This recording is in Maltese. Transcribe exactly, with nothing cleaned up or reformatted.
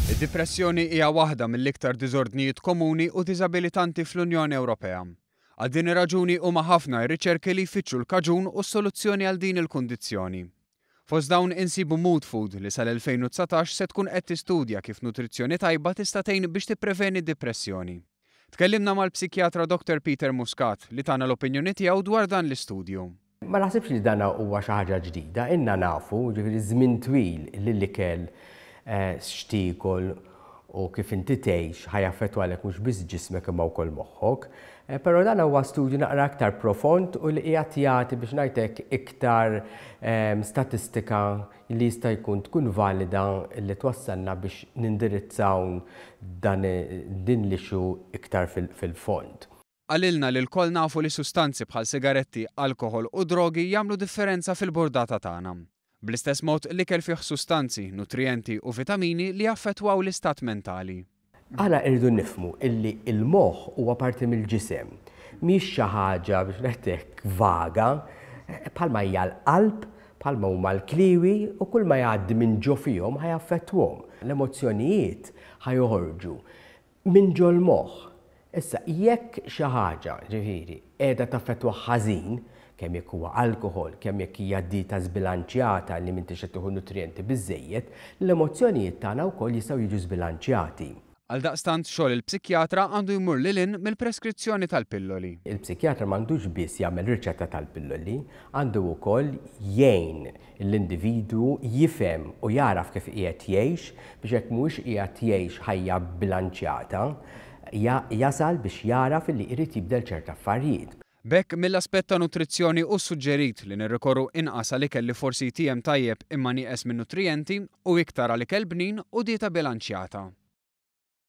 Id-dipressjoni hija waħda mill-iktar diżordnijiet komuni u diżabilitanti fl-Unjoni Ewropea. Għal din ir-raġuni huma ħafna r-riċerki li jfittxu l-kaġun u s-soluzzjoni għal din il-kundizzjoni. Fost dawn insibu Mood Food li sal-elfejn u dsatax se tkun qed tistudja kif nutrizzjoni tajba tista' tgħin biex tippreveni d-dipressjoni. Tkellimna mal-psikjatra Doctor Peter Muscat li tana l-opinjoni tiegħu dwar dan l-istudju. Ma naħsibx li dan huwa xi ħaġa ġdida, inna nafu, ġifieri żmien twil li l-ikel, eh, x'tiekol u kif inti tgħix ħa jaffettwalek mhux biss ġismek imma wkoll moħħok. Eh, però dan huwa studju naqra aktar profond u li qiegħed jagħti biex ngħidlek iktar, ehm, statistika li jista' jkun tkun valida li twassalna biex nindirizzaw dan, din l-issue iktar fil-, fil-fond. Qalilna li lkoll nafu li sustanzi bħal sigaretti, alkohol u drogi jagħmlu differenza fil-burdata tagħna. Bl-istess mod l-ikel fih sustanzi, nutrijenti u vitamini li jaffettwaw l-istat mentali. Aħna rridu nifhmu illi il-moħħ huwa parti mill-ġisem. Mhix xi ħaġa biex ngħidlek vaga, bħalma hija l-qalb, bħalma huma l-kliwi u kull ma jgħaddi minn ġo fihom ħa jaffettwahom. L-emozzjonijiet ħa joħorġu minn ġol-moħħ. Issa, jekk xi ħaġa, ġifieri, qiegħda taffettwa ħażin, kemm jekk huwa alkohol, kemm jekk hija dieta żbilanċjata li m'intix qed tieħu nutrijenti biżejjed, l-emozzjonijiet tagħna wkoll jistgħu jiġu żbilanċjati. Għaldaqstant xogħol il-psikjatra għandu jmur lil hinn mill-preskrizzjoni tal-pilloli. Il-psikjatra m'għandux biss jagħmel riċetta tal-pilloli, għandu wkoll jgħin l-individwu jifhem u jaraf kif qiegħed jgħix biex jekk mhuwiex qiegħed jgħix ħajja bilanċjata, ja-, jasal biex jaraf li jrid jibdel ċerta affarijiet. B'hekk mill-aspett ta' nutrizzjoni hu suġġerit li nirrikorru inqas għal ikel li forsi jtiem tajjeb imma nieqes minn nutrijenti u iktar għal ikel bnin u dieta bilanċjata.